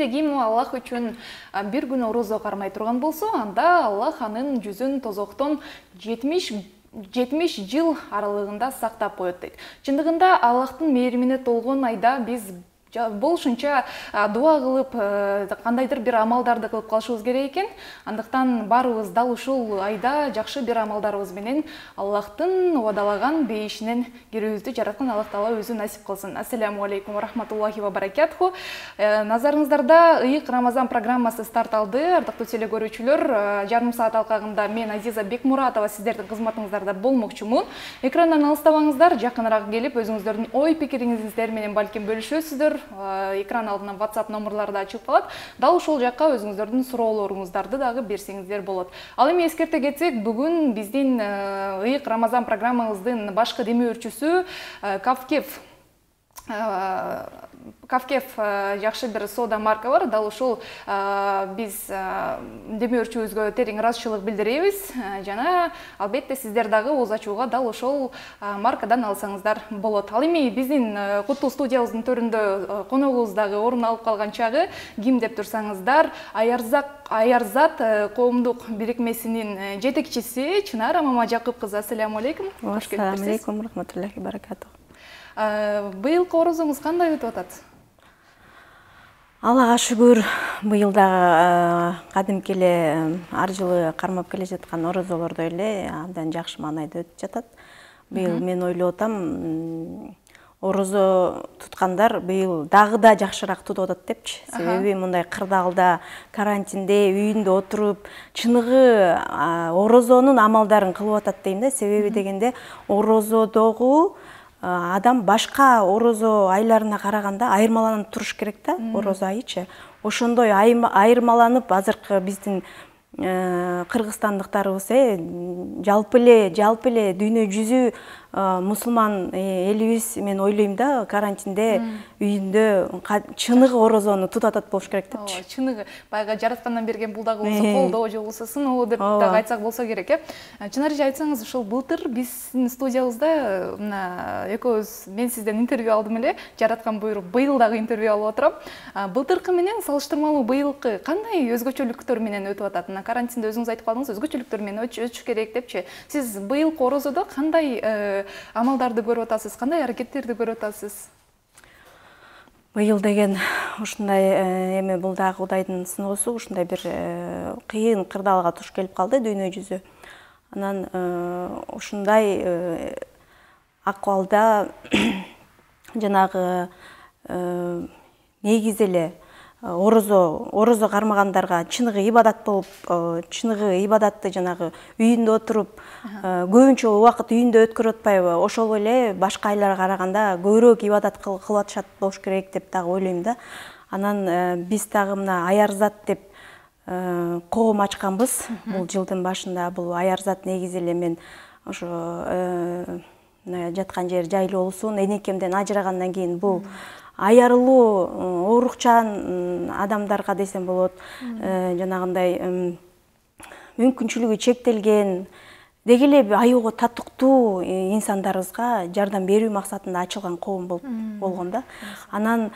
кимде ким Аллах үчүн бир күн орозо кармай турган болсо, анда Аллах анын жүзүн тозоктон 70 жыл аралыгында сактап коет дейт. Чындыгында Аллахтын мээримине толгон айда биз болушунча дуа кылып, кандайдыр бир амалдарды кылып калышыбыз керек экен. Андыктан баарыбыз дал ушул айда жакшы бир амалдарыбыз менен Аллахтын убадалаган бейишинен кирүүбүздү жараткан Аллах Таала өзү насип кылсын. Ассаламу алейкум ва рахматуллахи ва баракатуху. Назарыңыздарда ыйык Рамазан программасы старт алды. Ардактуу теле көрүүчүлөр, жарым саат алкагында мен Азиза Бекмуратова сиздердин кызматыңыздарда болмокчумун. Экрандан алыстабаңыздар, жакыныраак келип өзүңүздөрдүн ой пикириңиздер менен балким бөлүшөсүздөр. Экран алдынан WhatsApp номерлары да ачылып калат. Дал ушул жакка өзүңүздөрдүн суроолоруңуздарды дагы берсеңиздер болот. Ал эми эскерте кетсек, бүгүн биздин ыйык Рамазан программабыздын башкы демөөрчүсү Кавкев жакшы бир соода марка бар. Дал ушул биз демөөрчүбүзгө терең ыраазычылык билдиребиз. Жана албетте сиздер дагы ооз ачууга дал ошол маркадан алсаңыздар болот. Ал эми биздин куттуу студиябыздын төрүндө коногубуз дагы орун алып калган чагы ким деп турсаңыздар, Аярзат коомдук бирикмесинин жетекчиси Чынара Мамажакып кызы. Ассаламу алейкум. Ассаламу алейкум рахматуллахи баракатух. Быйылкы орозоңуз кандай өтүп атат? Аллага шүгүр, быйыл дагы кадимки эле ар жылы кармап келе жаткан орозолордой эле абдан жакшы маанайда өтүп жатат. Быйыл мен ойлоп атам, орозо туткандар быйыл дагы да жакшыраак тутуп атат депчи. Себеби мындай кырдаалда, карантинде, үйүндө отуруп, чыныгы орозонун амалдарын кылып атат дейм да. Себеби дегенде орозодогу адам башка орозо айларына караганда айырмаланып туруш керек да, орозо айычы. Ошондой айырмаланып азыркы биздин кыргызстандыктарыбыз жалпы эле дүйнө жүзү мусулман элибиз, мен ойлойм да, карантинде үйүндө чыныгы орозону тутуп атат болуш керек депчи. Чыныгы баягы жараткандан берген бул дагы болсо колдоо же болбосо сыноо деп дагы айтсак болсо керек, Чынарыжа, айтсаңыз, ушул былтыр биздин студиябызда мына экөөбүз, мен сизден интервью алдым эле, жараткан буйрук быйыл дагы интервью алып отурам. Былтыркы менен салыштырмалуу быйылкы кандай өзгөчөлүктөр менен өтүп атат? Мына карантинде өзүңүз айтып калдыңыз, өзгөчөлүктөр менен өтүш керек депчи. Сиз быйылкы орозодо кандай амалдарды көрүп атасыз, кандай аракеттерди көрүп атасыз? Быйыл деген ушундай эми бул дагы Кудайдын сыноосу, ушундай бир кыйын кырдаалга туш келип калды дүйнө жүзү. Анан ушундай акыбалда жанагы негизи эле орозо кармагандарга чыныгы ибадат болуп, чыныгы ибадатты жанагы үйүндө отуруп, көбүнчө убакыт үйүндө өткөрүп атпайбы, ошол эле башка айларга караганда көбүрөөк ибадат кылып атышат болуш керек деп дагы ойлойм да. Анан биз дагы мына Аярзат деп коом ачканбыз бул жылдын башында. Бул Аярзат негизи эле мен ошо жаткан жер жайлоосун энекемден ажырагандан кийин бул аярылуу оорукчан адамдарга десем болот, жанагындай мүмкүнчүлүгү чектелген, деги эле аюуга татыктуу инсандарыбызга жардам берүү максатында ачылган коом болгон да. Анан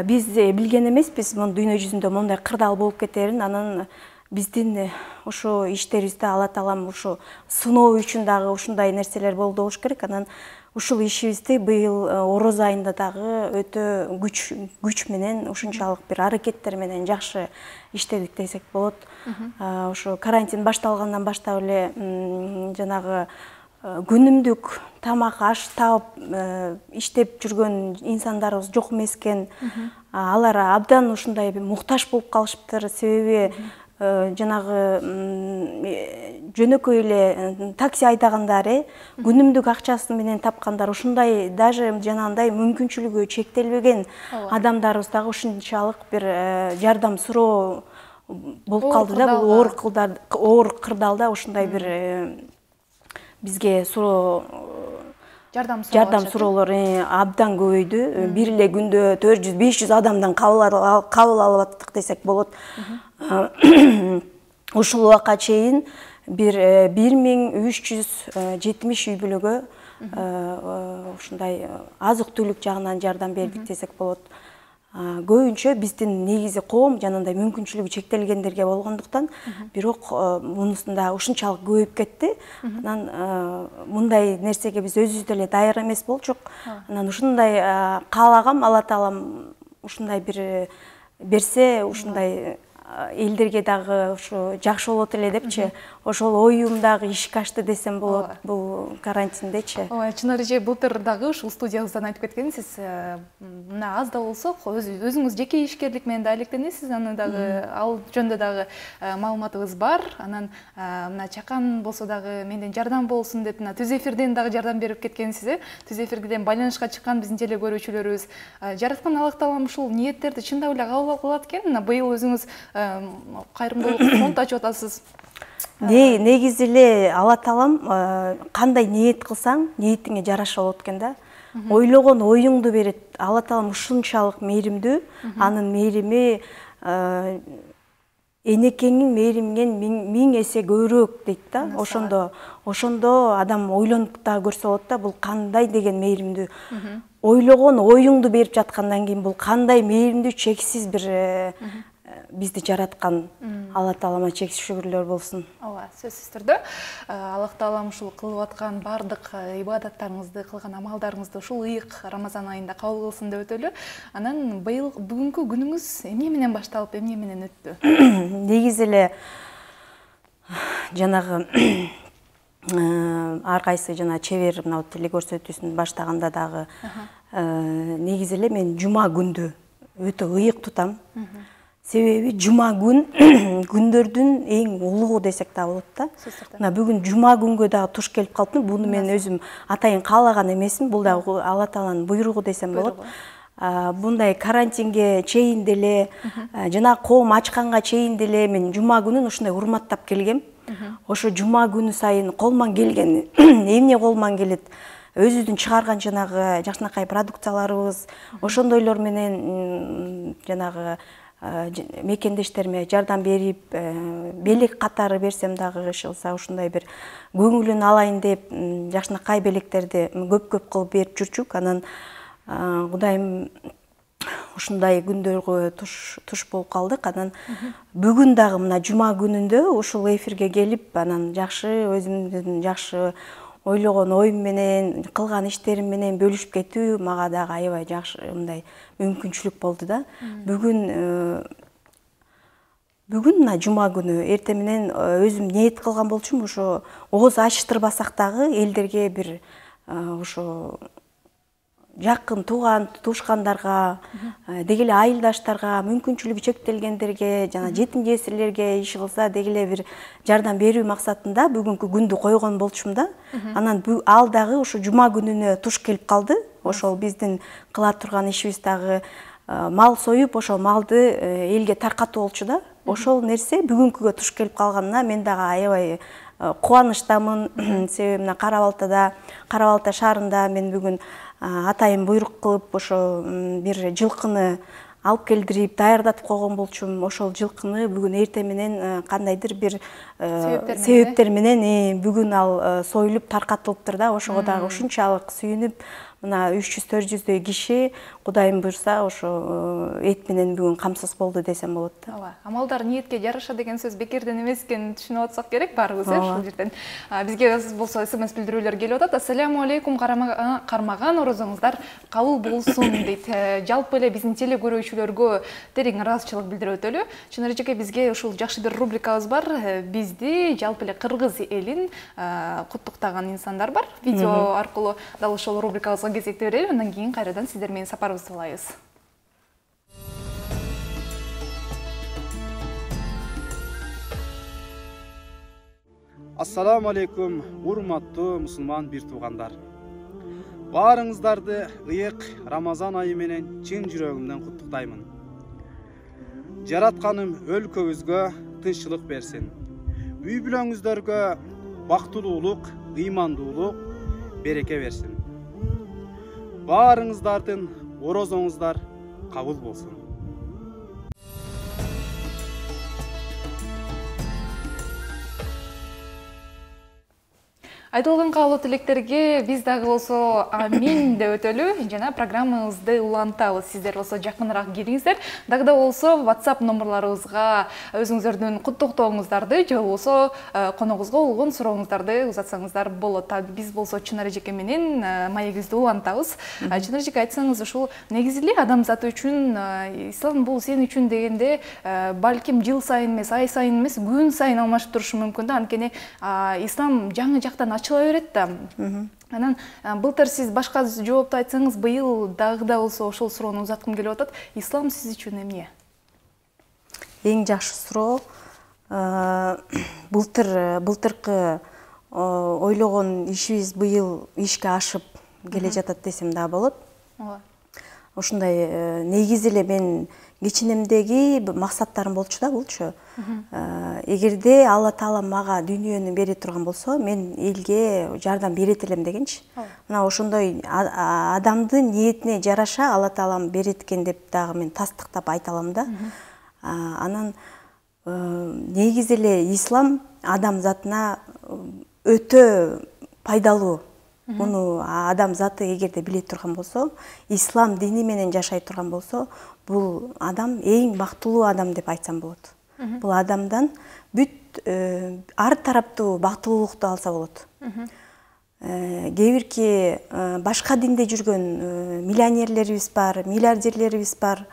биз билген эмеспиз дүйнө жүзүндө мондай кырдаал болуп кетерин. Анан биздин ошо иштерибизде Алла Таалам ушу сыноо үчүн дагы ушундай нерселер болду болуш керек. Анан ушул ишибизди быйыл орозо айында дагы өтө күч менен, ушунчалык бир аракеттер менен жакшы иштедик десек болот. Ошо карантин башталгандан баштап эле жанагы күнүмдүк тамак аш таап иштеп жүргөн инсандарыбыз жок эмес экен. Алар абдан ушундай муктаж болуп калышыптыр. Себеби жанагы жөнөкөй эле такси айдагандар, күнүмдүк акчасы менен тапкандар, ушундай даже жанагындай мүмкүнчүлүгү чектелбеген адамдарыбыз дагы ушунчалык бир жардам суроо болуп калды да. Бул оор кырдаалда ушундай бир бизге суроо жардам суроолор абдан көбөйдү. Бир эле күндө 400-500 адамдан кабыл алып аттык десек болот. Ушул убакка чейин 1370 үй бүлөгө ушундай азык түлүк жагынан жардам бердик десек болот. көбүнчө биздин негизи коом жанагындай мүмкүнчүлүгү чектелгендерге болгондуктан, бирок мунусунда ушунчалык көбөйүп кетти. Анан мындай нерсеге биз өзүбүз деле даяр эмес болчук. Анан ушундай каалагам, Алла Таалам ушундай бир берсе, ушундай элдерге дагы ушу жакшы болот эле депчи, ошол оюм дагы ишке ашты десем болот бул карантиндечи. Ооба, Чынар эже былтыр дагы ушул студиябыздан айтып кеткенсиз, мына аз да болсо өзүңүз жеке ишкерлик менен да алектенесиз, аны дагы ал жөнүндө дагы маалыматыбыз бар. Анан мына чакан болсо дагы менден жардам болсун деп мына Түз эфирден дагы жардам берип кеткенсиз. Түз эфирден байланышка чыккан биздин теле көрүүчүлөрүбүз жараткан Аллах Таалам ушул ниеттерди чындап эле кабыл кылат экен. Мына быйыл өзүңүз кайрымдуулук фонд ачып атасыз. Негизи эле Алла Таалам кандай ниет кылсаң, ниетиңе жараша болот экен да. Ойлогон оюңду берет. Алла Таалам ушунчалык мээримдүү, анын мээрими энекеңиң мээриминен 1000 эсе көбүрөөк дейт да. Ошондо адам ойлонуп да көрсө болот да, бул кандай деген мээримдүү. Ойлогон оюңду берип жаткандан кийин бул кандай мээримдүү, чексиз бир бизди жараткан Алла Таалама чексиз шүгүрлөр болсун. Ооба, сөзсүз түрдө Аллах Таалам ушул кылып аткан бардык ибадаттарыңызды, кылган амалдарыңызды ушул ыйык Рамазан айында кабыл кылсын деп өтөлү. Анан быйыл бүгүнкү күнүңүз эмне менен башталып, эмне менен өттү? Негизи эле жанагы ар кайсы жана чебер мына теле көрсөтүүсүн баштаганда дагы негизи эле мен жума күндү өтө ыйык тутам. Себеби жума күн күндөрдүн эң улугу десек да болот да. Мына бүгүн жума күнгө дагы туш келип калыптыр. Буну мен өзүм атайын каалаган эмесмин. Бул дагы Алла Тааланын буйругу десем болот. Мындай карантинге чейин деле, жана коом ачканга чейин деле мен жума күнүн ушундай урматтап келгем. Ошо жума күнү сайын колман келген эмне колман келет? Өзүбүздүн чыгарган жанагы жакшынакай продукцияларыбыз, ошондойлор менен жанагы мекендештериме жардам берип, белек катары берсем дагы ишылса ушундай бир көңүлүн алайын деп жакшынакай белектерди көп-көп кылып берип жүрчүк. Анан Кудайым ушундай күндөргө туш болуп калдык. Анан бүгүн дагы мына жума күнүндө ушул эфирге келип, анан жакшы өзүмдүн жакшы ойлогон оюм менен, кылган иштерим менен бөлүшүп кетүү мага дагы аябай жакшы мындай мүмкүнчүлүк болду да. Бүгүн мына жума күнү эртең менен өзүм ниет кылган болчумун, ошо ооз ачтырбасак дагы элдерге бир ошо жакын туушкандарга, деги эле айылдаштарга, мүмкүнчүлүгү чектелгендерге, жана жетим жесирлерге иши кылса деги эле бир жардам берүү максатында бүгүнкү күндү койгон болчумун да. Анан ал дагы ошо жума күнүнө туш келип калды. Ошол биздин кыла турган ишибиз дагы мал союп, ошол малды элге таркатуу болчу да. Ошол нерсе бүгүнкүгө туш келип калганына мен дагы аябай кубанычтамын. Себеби мына Кара Балта шаарында мен бүгүн атайын буйрук кылып ошо бир жылкыны алып келдирип даярдатып койгон болчумун. Ошол жылкыны бүгүн эртең менен кандайдыр бир себептер менен бүгүн ал союлуп таркатылыптыр да. Ошого дагы ушунчалык сүйүнүп, мына 300-400дөй киши Кудайым буйрса ошо эт менен бүгүн камсыз болду десем болот да. Ооба, амалдар ниетке жараша деген сөз бекерден эмес экенин түшүнүп атсак керек баарыбыз ушул жерден. Бизге болсо СМС билдирүүлөр келип атат. Ассаламу алейкум, кармаган орозоңуздар кабыл болсун дейт. Жалпы эле биздин теле көрүүчүлөргө терең ыраазычылык билдирип өтөлү. Чынар эжеке, бизге ушул жакшы бир рубрикабыз бар. Бизди жалпы эле кыргыз элин куттуктаган инсандар бар. Видео аркылуу дал ошол рубрикабызга кезекти берели. Андан кийин кайрадан сиздер менен сапарыбызды улайбыз. Ассаламу алейкум, урматтуу мусулман бир туугандар. Баарыңыздарды ыйык Рамазан айы менен чын жүрөгүмдөн куттуктаймын. Жаратканым өлкөбүзгө тынччылык берсин. Үй бүлөңүздөргө бактылуулук, ыймандуулук, береке берсин. Баарыңыздардын орозоңуздар кабыл болсун. Айтылган каалоо тилектерге биз дагы болсо амин деп өтөлү жана программабызды улантабыз. Сиздер болсо жакыныраак келиңиздер. Дагы да болсо WhatsApp номерларыбызга өзүңүздөрдүн куттуктооңуздарды же болбосо коногубузга болгон сурооңуздарды узатсаңыздар болот. Биз болсо Чынар эжеке менен маегибизди улантабыз. Чынар эжеке, айтсаңыз, ушул негизи эле адамзат үчүн ислам бул сен үчүн дегенде балким жыл сайын эмес, ай сайын эмес, күн сайын алмашып турушу мүмкүн да. Анткени ислам жаңы жактан ачыла берет да. Анан былтыр сиз башка жоопту айтсаңыз, быйыл дагы да болсо ошол суроону узаткым келип атат. Ислам сиз үчүн эмне? Эң жакшы суроо. Былтыркы ойлогон ишибиз быйыл ишке ашып келе жатат десем да болот. Ушундай негизи эле мен кичинемдеги максаттарым болчу да булчу. Эгерде Алла Таала мага дүйнөнү бере турган болсо, мен элге жардам берет элем дегенчи. Мына ошондой адамдын ниетине жараша Алла Таалам берет экен деп дагы мен тастыктап айта алам да. Анан негизи эле ислам адам затына өтө пайдалуу. Муну адам заты эгерде биле турган болсо, ислам дини менен жашай турган болсо, бул адам эң бактылуу адам деп айтсам болот. Бул адамдан бүт ар тараптуу бактылуулукту алса болот. Кээ башка динде жүргөн миллионерлерибиз бар, миллиардерлерибиз бар.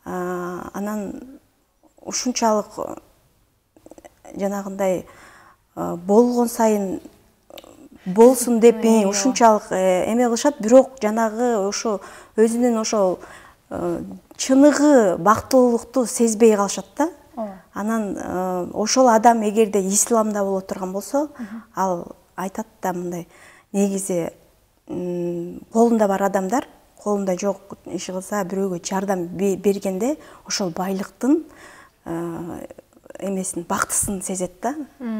Анан ушунчалык жанагындай болгон сайын болсун деп ушунчалык эме кылышат, бирок жанагы ошо өзүнүн ошол чыныгы бактылуулукту сезбей калышат да. Анан ошол адам эгерде исламда боло турган болсо, ал айтат да мындай: негизи колунда бар адамдар, колунда жок иши кылса, бирөөгө жардам бергенде ошол байлыктын эмесин, бактысын сезет да.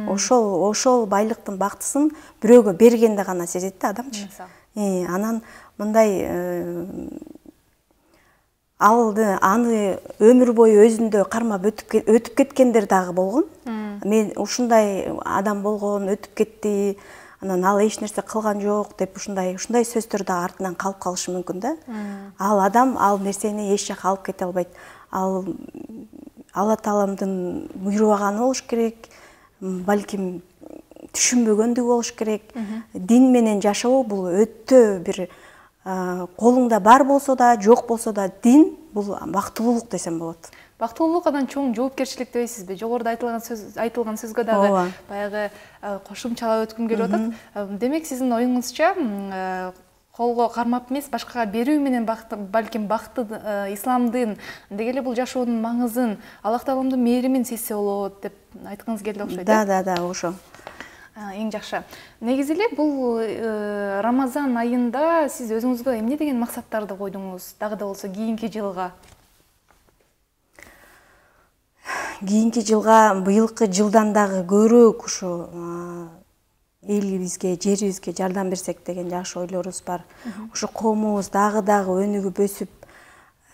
Ошол байлыктын бактысын бирөөгө бергенде гана сезет да адамчы. Анан мындай аны өмүр бою өзүндө кармап өтүп кеткендер дагы болгон. Мен ушундай адам болгон, өтүп кетти, анан ал эч нерсе кылган жок деп ушундай сөздөр да артынан калып калышы мүмкүн да. Ал адам ал нерсени эч жака алып кете албайт. Ал Алла Тааламдын буйрубаганы болуш керек, балким түшүнбөгөндүгү болуш керек. Дин менен жашоо бул өтө бир колуңда бар болсо да, жок болсо да, дин бул бактылуулук десем болот. Бактылуулук анан чоң жоопкерчилик дебейсизби? Жогоруда айтылган сөзгө дагы баягы кошумчалап өткүм келип атат. Демек, сиздин оюңузча колго кармап эмес, башкага берүү менен балким бакты исламдын, деги эле бул жашоонун маңызын Аллах Тааламдын мээримин сезсе болот деп айткыңыз келди окшойт. Да, ошо. Эң жакшы. Негизи эле бул Рамазан айында сиз өзүңүзгө эмне деген максаттарды койдуңуз? Дагы да болсо кийинки жылга. Кийинки жылга, быйылкы жылдан дагы көбүрөөк ушу элибизге, жерибизге жардам берсек деген жакшы ойлорубуз бар. Ушу коомубуз дагы өнүгүп өсүп,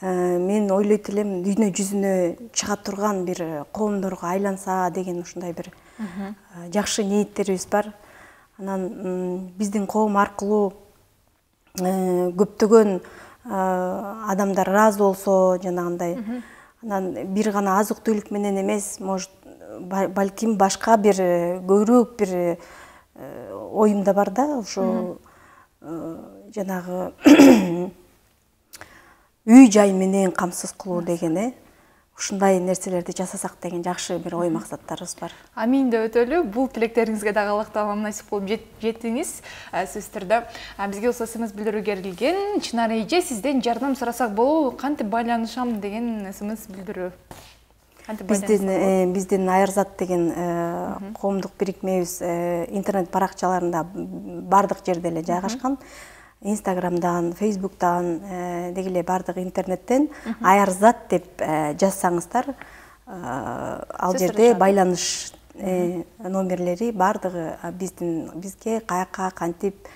мен ойлойт элем дүйнө жүзүнө чыга турган бир коомдорго айланса деген ушундай бир жакшы ниеттерибиз бар. Анан биздин коом аркылуу көптөгөн адамдар ыраазы болсо, жанагындай, анан бир гана азык түлүк менен эмес, может, балким башка бир көбүрөөк бир оюмда бар да, ошо жанагы үй жай менен камсыз кылуу деген, ушундай нерселерди жасасак деген жакшы бир ой максаттарыбыз бар. Амин деп өтөлү. Бул тилектериңизге дагы Аллах Таалам насип кылып жеттиңиз. Сөзсүз түрдө бизге болсо СМС билдирүүгө келген. Чынар эже, сизден жардам сурасак болобу? Кантип байланышам деген СМС билдирүү. Биздин Аярзат деген коомдук бирикмебиз интернет баракчаларында бардык жерде эле жайгашкан. Инстаграмдан, Фейсбуктан, деги эле бардык интернеттен Аярзат деп жазсаңыздар, ал жерде байланыш номерлери бардыгы бизге каяка кантип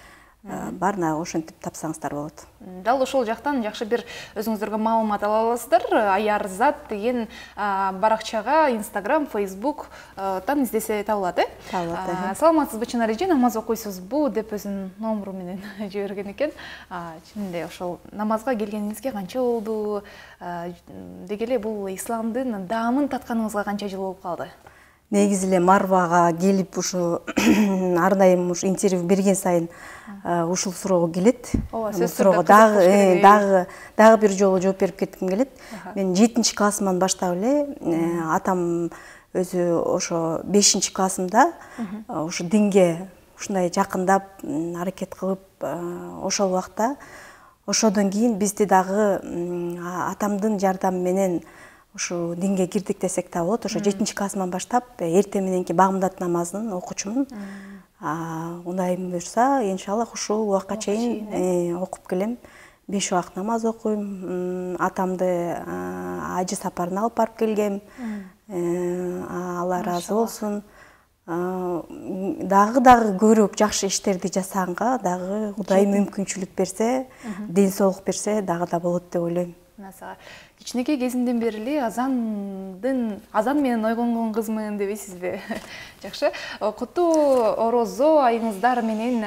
баарына ошентип тапсаңыздар болот. Дал ошол жактан жакшы бир өзүңүздөргө маалымат ала аласыздар. Аярзат деген баракчага Instagram, Facebook-тан издесе табылат, Табылат. Саламатсызбы Чынар эже, намаз окуйсузбу деп өзүнүн номеру менен жиберген экен. Чынында ошол намазга келгениңизге канча болду? Деги эле бул исламдын даамын татканыңызга канча жыл болуп калды? Негизи эле Марвага келип ушу ар дайым ушу интервью берген сайын ушул суроого келет. Бул суроого дагы бир жолу жооп берип кетким келет. Мен 7-классыман баштап эле атам өзү ошо 5-классымда ушу динге ушундай жакындап аракет кылып, ошол убакта ошодон кийин бизди дагы атамдын жардамы менен ушу динге кирдик десек да болот. Ошо 7-классыман баштап эртең мененки багымдат намазын окучумун. Кудайым буйрса, иншаллах ушул убакка чейин окуп келем. 5 убак намаз окуйм. Атамды ажы сапарына алып барып келгем. Алла ыраазы болсун. Дагы көбүрөөк жакшы иштерди жасаганга дагы Кудай мүмкүнчүлүк берсе, ден соолук берсе дагы да болот деп ойлойм. Кичинекей кезинден бери эле азан менен ойгонгон кызмын дебейсизби? Жакшы. Куттуу орозо айыңыздар менен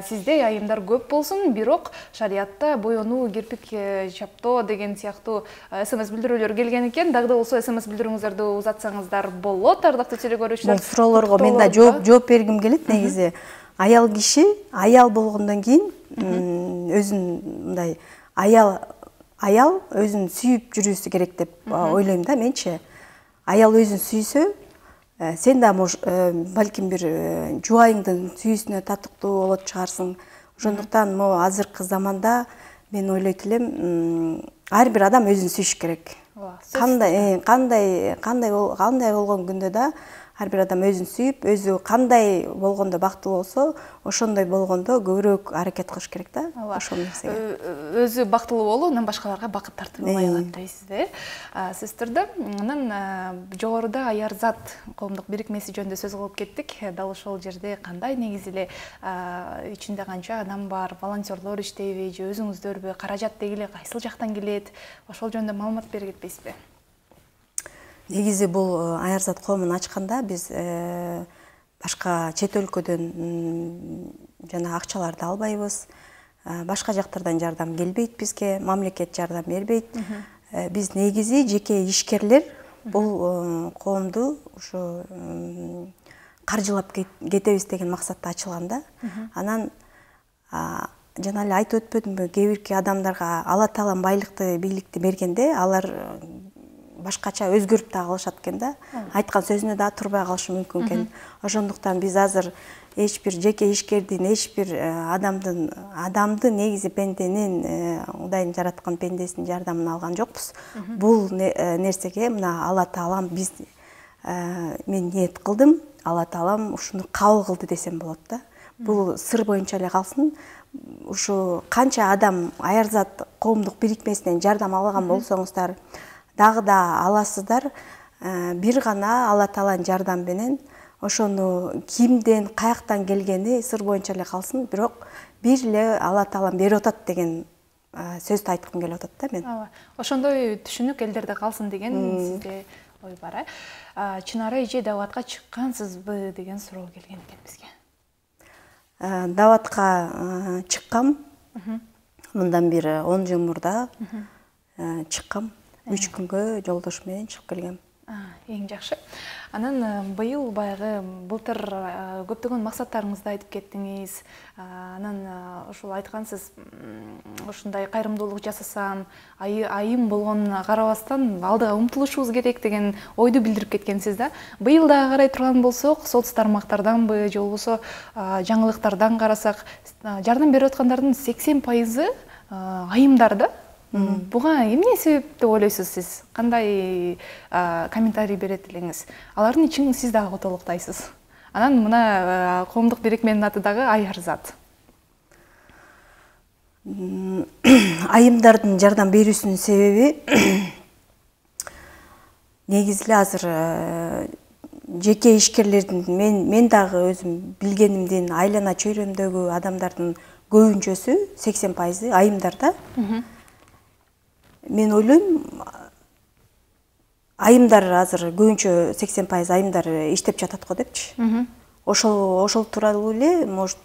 сизде айымдар көп болсун, бирок шариатта боенуу, кирпик чаптоо деген сыяктуу СМС билдирүүлөр келген экен. Дагы да болсо СМС билдирүүңүздөрдү узатсаңыздар болот, ардактуу телекөрүүчүлөр. Бул суроолорго мен да жооп бергим келет. Негизи аял киши аял болгондон кийин өзүн мындай аял өзүн сүйүп жүрүүсү керек деп ойлойм да менчи. Аял өзүн сүйсө, сен да балким бир жубайыңдын сүйүүсүнө татыктуу болот чыгарсың. Ошондуктан могу азыркы заманда мен ойлойт элем, ар бир адам өзүн сүйүш керек. Кандай болгон күндө да ар бир адам өзүн сүйүп, өзү кандай болгондо бактылуу болсо, ошондой болгондо көбүрөөк аракет кылыш керек да. Ошол нерсеге. Өзү бактылуу болуу, анан башкаларга бакыт тартуулай алат дейсизби? Сөздөрдө анан жогоруда Аярзат коомдук бирикмеси жөнүндө сөз кылып кеттик. Дал ошол жерде кандай негизи эле ичинде канча адам бар, волонтерлор иштейби же өзүңүздөрбү, каражат деги эле кайсыл жактан келет? Ошол жөнүндө маалымат бере кетпейсизби? Негизи бул Аярзат коомун ачканда биз башка чет өлкөдөн жана акчаларды албайбыз. Башка жактардан жардам келбейт бизге, мамлекет жардам бербейт. Биз негизи жеке ишкерлер бул коомду ушу каржылап кетебиз деген максатта ачылган да. Анан жана эле айтып өтпөдүмбү, кээ бирки адамдарга Алла Таалам байлыкты, бийликти бергенде алар башкача өзгөрүп да калышат экен да. Айткан сөзүнө да турбай калышы мүмкүн экен. Ошондуктан биз азыр эч бир жеке ишкердин, эч бир адамды негизи пенденин, Кудайдын жараткан пендесинин жардамын алган жокпуз. Бул нерсеге мына Алла Таалам биз мен ниет кылдым, Алла Таалам ушуну кабыл кылды десем болот да. Бул сыр боюнча эле калсын. Ушу канча адам Аярзат коомдук бирикмесинен жардам алган болсоңуздар, дагы да аласыздар. Бир гана Алла Тааланын жардамы менен ошону кимден, каяктан келгени сыр боюнча эле калсын, бирок бир эле Алла Таалам берип атат деген сөздү айткым келип атат да мен. Ошондой түшүнүк элдерде калсын деген сизде ой бар. Чынара эже даватка чыккансызбы деген суроо келген экен бизге. Даватка чыккам. Мындан бир 10 жыл мурда чыккам. 3 күнгө жолдош менен чыгып келгем. Эң жакшы. Анан быйыл баягы былтыр көптөгөн максаттарыңызды айтып кеттиңиз. Анан ушул айткансыз, ушундай кайрымдуулук жасасам, айым болгонуна карабастан алдыга умтулушубуз керек деген ойду билдирип кеткенсиз да. Быйыл дагы карай турган болсок, соц тармактарданбы же болбосо жаңылыктардан карасак, жардам берип аткандардын 80% айымдар да. Буга эмне себеп деп ойлойсуз сиз? Кандай комментарий берет элеңиз? Алардын ичин сиз дагы толуктайсыз. Анан мына коомдук бирикменин аты дагы Аярзат. Айымдардын жардам берүүсүнүн себеби негизи эле азыр жеке ишкерлердин мен дагы өзүм билгенимдин айлана чөйрөмдөгү адамдардын көбүнчөсү 80% айымдарда. Мен ойлойм, айымдар азыр көбүнчө 80% айымдар иштеп жатат го депчи. Ошол тууралуу эле может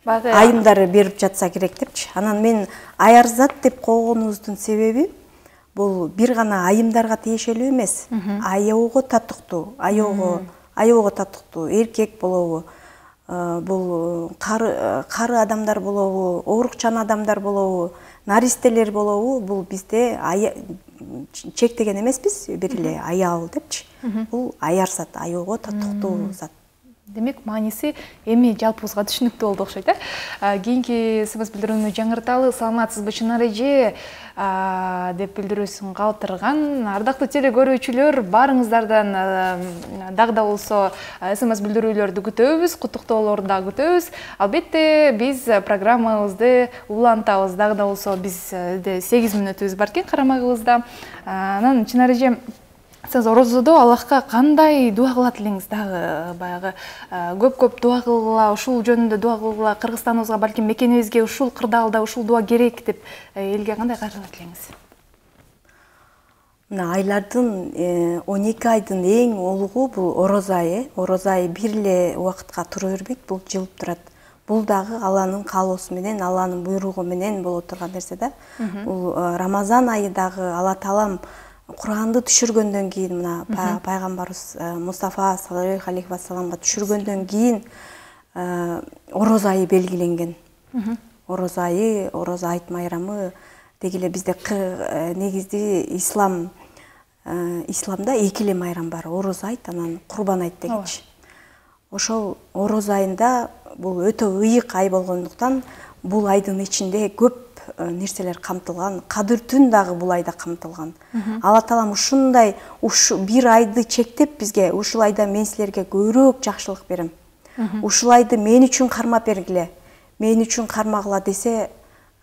айымдар берип жатса керек депчи. Анан мен аярзат деп койгонубуздун себеби бул бир гана айымдарга тиешелүү эмес. Аягого татыктуу, аягого татыктуу эркек болобу, бул кары адамдар болобу, оорукчан адамдар болобу, наристелер болобу, бул бизде чектеген эмеспиз, бир эле аял депчи. Бул аярзат, аягого татыктуу зат. Демек, мааниси эми жалпыбызга түшүнүктүү болду окшойт, Кийинки СМС билдирүүнү жаңырталы. Саламатсызбы, Чынар эже деп билдирүүсүн калтырган. Ардактуу теле көрүүчүлөр, баарыңыздардан дагы да болсо СМС билдирүүлөрдү күтөбүз, куттуктоолорду да күтөбүз. Албетте, биз программабызды улантабыз. Дагы да болсо бизде 8 мүнөтүбүз бар экен карамагыбызда. Анан Чынар эже, сиз орозодо Аллахка кандай дуа кылат элеңиз? Дагы баягы көп дуа кылгыла, ушул жөнүндө дуа кылгыла, Кыргызстаныбызга, балким мекенибизге ушул кырдаалда ушул дуа керек деп элге кандай кайрылат элеңиз? Мына айлардын 12 айдын эң улугу бул орозо айы. Орозо айы бир эле убакытка тура бербейт, бул жылып турат. Бул дагы Алланын каалоосу менен, Алланын буйругу менен боло турган нерсе да. Бул Рамазан айы дагы Алла Таалам Куранды түшүргөндөн кийин, мына пайгамбарыбыз Мустафа саллаллаху алейхи вассаламга түшүргөндөн кийин орозо айы белгиленген. Орозо айы, орозо айт майрамы деги эле бизде негизди исламда 2 эле майрам бар. Орозо айт, анан Курбан айт дегичи. Ошол орозо айында бул өтө ыйык ай болгондуктан бул айдын ичинде көп нерселер камтылган. Кадыр түн дагы бул айда камтылган. Алла Таалам ушундай бир айды чектеп бизге, ушул айда мен силерге көбүрөөк жакшылык берем. Ушул айды мен үчүн кармап бергиле, мен үчүн кармагыла десе,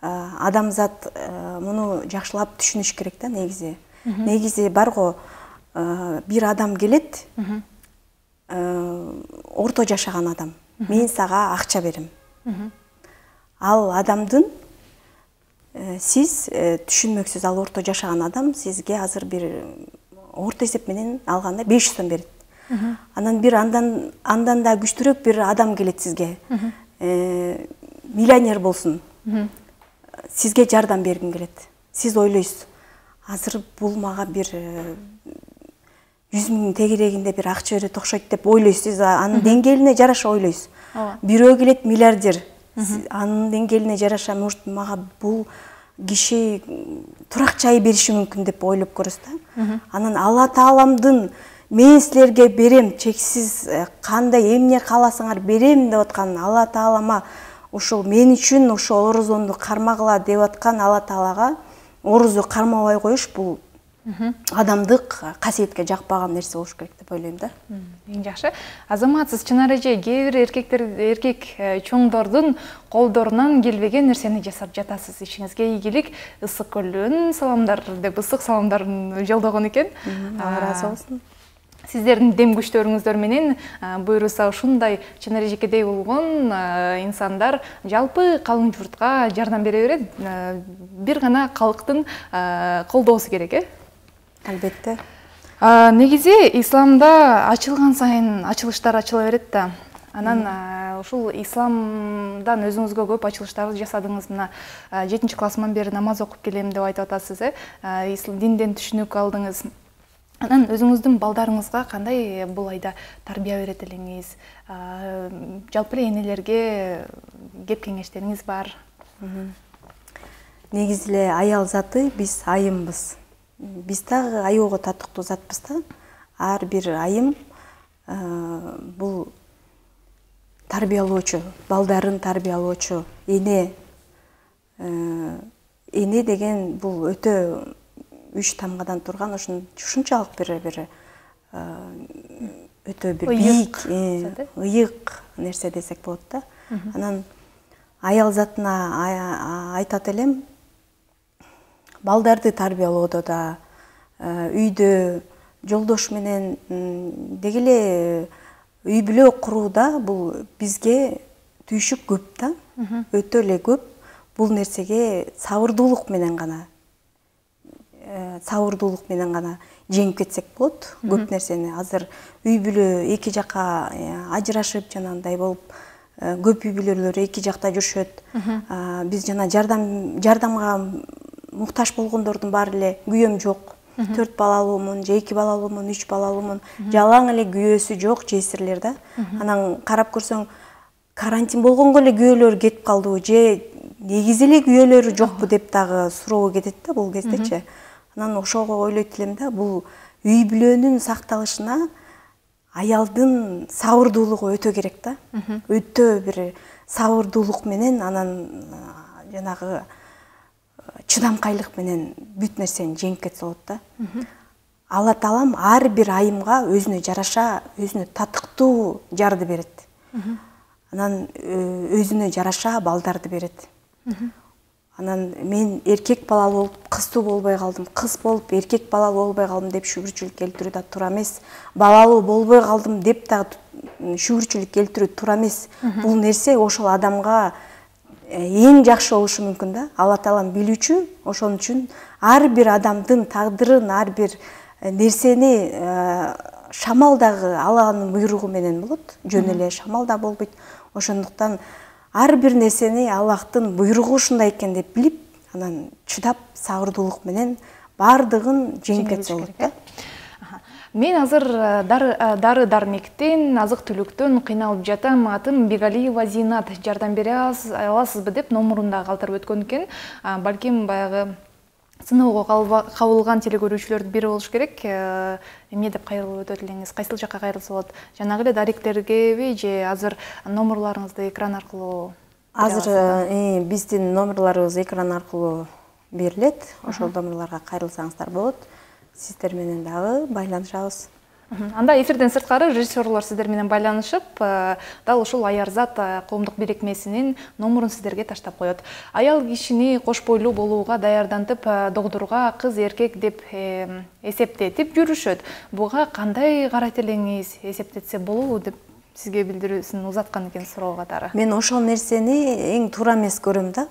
адамзат муну жакшылап түшүнүш керек да негизи. Негизи бар го, бир адам келет, орто жашаган адам. Мен сага акча берем. Ал адамдын сиз түшүнмөксүз, ал орто жашаган адам сизге азыр бир орто эсеп менен алганда 500 сом берет. Анан бир андан да күчтүүрөөк бир адам келет сизге. Миллионер болсун. Сизге жардам бергим келет. Сиз ойлойсуз, азыр бул мага бир 100 000 тегерегинде бир акча берет окшойт деп ойлойсуз. Анын деңгээлине жараша ойлойсуз. Бирөө келет миллиардер. Анын деңгээлине жараша, может, мага бул киши турак жай бериши мүмкүн деп ойлоп көрөсүз да. Анан Алла Тааламдын мен силерге берем, чексиз кандай эмне кааласаңар берем деп аткан Алла Таалама ушул мен үчүн ушул орозонду кармагыла деп аткан Алла Таалага орозо кармабай коюш бул адамдык касиетке жакпаган нерсе болуш керек деп ойлойм да. Эң жакшы. Азаматсыз, Чынар эже, кээ бир эркек чоңдордун колдорунан келбеген нерсени жасап жатасыз. Ишиңизге ийгилик, ысык көлдөн саламдар деп ысык саламдарын жолдогон экен. Ыраазы болсун. Сиздердин дем күчтөрүңүздөр менен буйруса ушундай Чынар эжекедей болгон инсандар жалпы калың журтка жардам бере берет. Бир гана калктын колдоосу керек, Албетте. Негизи исламда ачылган сайын ачылыштар ачыла берет да. Анан ушул исламдан өзүңүзгө көп ачылыштарды жасадыңыз. Мына 7-классыман бери намаз окуп келем деп айтып атасыз, динден түшүнүк алдыңыз. Анан өзүңүздүн балдарыңызга кандай бул айда тарбия берет элеңиз? Жалпы эле энелерге кеп кеңештериңиз бар? Негизи эле аял заты биз айымбыз. Биз дагы аягого татыктуу затпыз да. Ар бир айым бул тарбиялоочу, балдарын тарбиялоочу эне. Эне деген бул өтө 3 тамгадан турган, ушунчалык бир өтө бир бийик, ыйык нерсе десек болот да. Анан аял затына айтат элем, балдарды тарбиялоодо да, үйдө жолдош менен деги эле үй бүлө курууда бул бизге түйшүк көп да, өтө эле көп. Бул нерсеге сабырдуулук менен гана жеңип кетсек болот. Көп нерсени азыр үй бүлө эки жака ажырашып жанагындай болуп, көп үй бүлөлөр эки жакта жүрүшөт. Биз жана жардамга муктаж болгондордун баары эле күйөөм жок, 4 балалуумун, же 2 балалуумун, 3 балалуумун, жалаң эле күйөөсү жок жесирлер да. Анан карап көрсөң, карантин болгонго эле күйөөлөр кетип калдыбы же негизи эле күйөөлөрү жокпу деп дагы суроо кетет да бул кездечи. Анан ошого ойлойт элем да, бул үй бүлөнүн сакталышына аялдын сабырдуулугу өтө керек да. Өтө бир сабырдуулук менен, анан жанагы чыдамкайлык менен бүт нерсени жеңип кетсе болот да. Алла Таалам ар бир айымга өзүнө жараша, өзүнө татыктуу жарды берет. Анан өзүнө жараша балдарды берет. Анан мен эркек балалуу болуп кыздуу болбой калдым, кыз болуп эркек балалуу болбой калдым деп шүгүрчүлүк келтирүү да туура эмес. Балалуу болбой калдым деп дагы шүгүрчүлүк келтирүү туура эмес. Бул нерсе ошол адамга эң жакшы болушу мүмкүн да. Алла Таалам билүүчү, ошон үчүн ар бир адамдын тагдырын, ар бир нерсени шамал дагы Алланын буйругу менен болот. Жөн эле шамал да болбойт. Ошондуктан ар бир нерсени Аллахтын буйругу ушундай экен деп билип, анан чыдап, сабырдуулук менен баардыгын жеңип кетсе болот да. Мен азыр дары-дармектен, азык-түлүктөн кыйналып жатам. Атым Бегалиева Зинат. Жардам бере аласызбы деп номурунда калтырып өткөн экен. Балким баягы сыноого кабылган телекөрүүчүлөрдүн бири болуш керек. Эмне деп кайрылып өтөт элеңиз? Кайсыл жакка кайрылса болот? Жанагы эле даректергеби же азыр номурларыңызды экран аркылуу? Азыр биздин номурларыбыз экран аркылуу берилет. Ошол номурларга кайрылсаңыздар болот. Сиздер менен дагы байланышабыз. Анда эфирден сырткары режиссерлор сиздер менен байланышып, дал ушул Аярзат коомдук бирикмесинин номурун сиздерге таштап коет. Аял кишини кош бойлуу болууга даярдантып, догдурга кыз эркек деп эсептетип жүрүшөт. Буга кандай карайт элеңиз? Эсептетсе болобу деп сизге билдирүүсүн узаткан экен суроо катары. Мен ошол нерсени эң туура эмес көрөм да.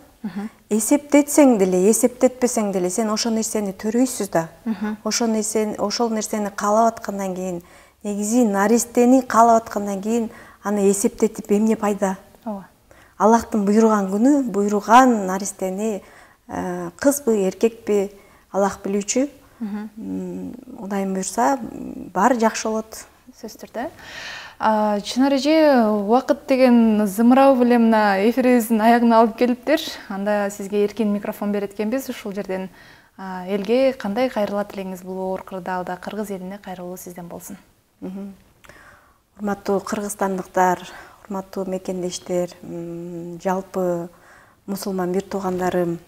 Эсептетсең деле, эсептетпесең деле сен ошол нерсени төрөйсүз да. Ошол нерсени каалап аткандан кийин, негизи наристени каалап аткандан кийин аны эсептетип эмне пайда? Аллахтын буйруган күнү, буйруган наристени кызбы, эркекпи Аллах билүүчү. Кудайым буйрса, баары жакшы болот. Сөзсүз түрдө. Чынар эже, убакыт деген зымырабы беле мына эфирибиздин аягына алып келиптир. Анда сизге эркин микрофон берет экенбиз. Ушул жерден элге кандай кайрылат элеңиз бул оор кырдаалда? Кыргыз элине кайрылуу сизден болсун. Урматтуу кыргызстандыктар, урматтуу мекендештер, жалпы мусулман бир туугандарым,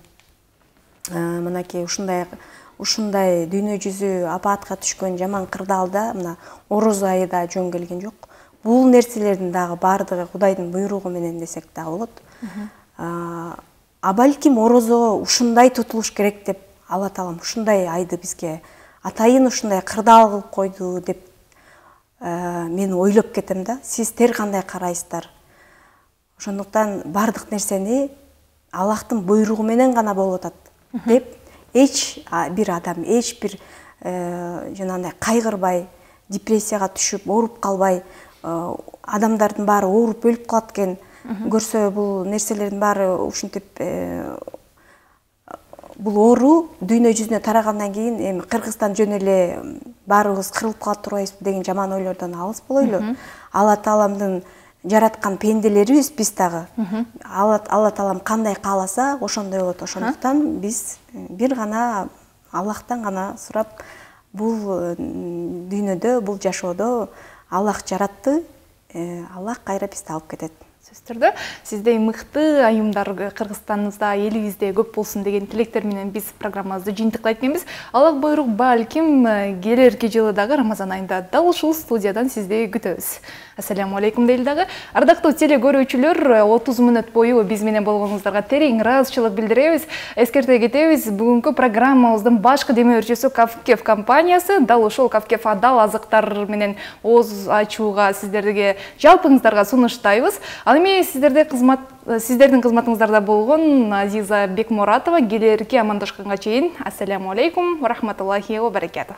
мынакей ушундай дүйнө жүзү апаатка түшкөн жаман кырдаалда мына Орозо айы да жөн келген жок. Бул нерселердин дагы баардыгы Кудайдын буйругу менен десек да болот. Балким Орозо ушундай тутулуш керек деп Алла Таалам ушундай айды бизге атайын ушундай кырдаал кылып койду деп мен ойлоп кетем да. Сиздер кандай карайсыздар? Ошондуктан баардык нерсени Аллахтын буйругу менен гана болуп атат деп эч бир адам, эч бир жанагындай кайгырбай, депрессияга түшүп, ооруп калбай, адамдардын баары ооруп өлүп калат экен көрсө, бул нерселердин баары ушинтип бул оору дүйнө жүзүнө тарагандан кийин эми Кыргызстан жөн эле баарыбыз кырылып калат турбайбызбы деген жаман ойлордон алыс болойлу. Алла Тааламдын жараткан пенделерибиз биз дагы. Алла Таалам кандай кааласа, ошондой болот. Ошондуктан биз бир гана Аллахтан гана сурап, бул дүйнөдө, бул жашоодо Аллах жаратты, Аллах кайра бизди алып кетет. Сөзсүз түрдө сиздей мыкты айымдар Кыргызстаныбызда, элибизде көп болсун деген тилектер менен биз программабызды жыйынтыктайт экенбиз. Аллах буйрук, балким келерки жылы дагы Рамазан айында дал ушул студиядан сизди күтөбүз. Ассаламу алейкум дейли дагы. Ардактуу теле көрүүчүлөр, 30 мүнөт бою биз менен болгонуңуздарга терең ыраазычылык билдиребиз. Эскерте кетебиз, бүгүнкү программабыздын башкы демөөрчүсү Кавкеф компаниясы. Дал ошол Кавкеф адал азыктар менен ооз ачууга сиздерге жалпыңыздарга сунуштайбыз. Ал эми сиздердин кызматыңыздарда болгон Азиза Бекмуратова келерки амандашканга чейин. Ассаламу алейкум ва рахматуллахи ва баракатух.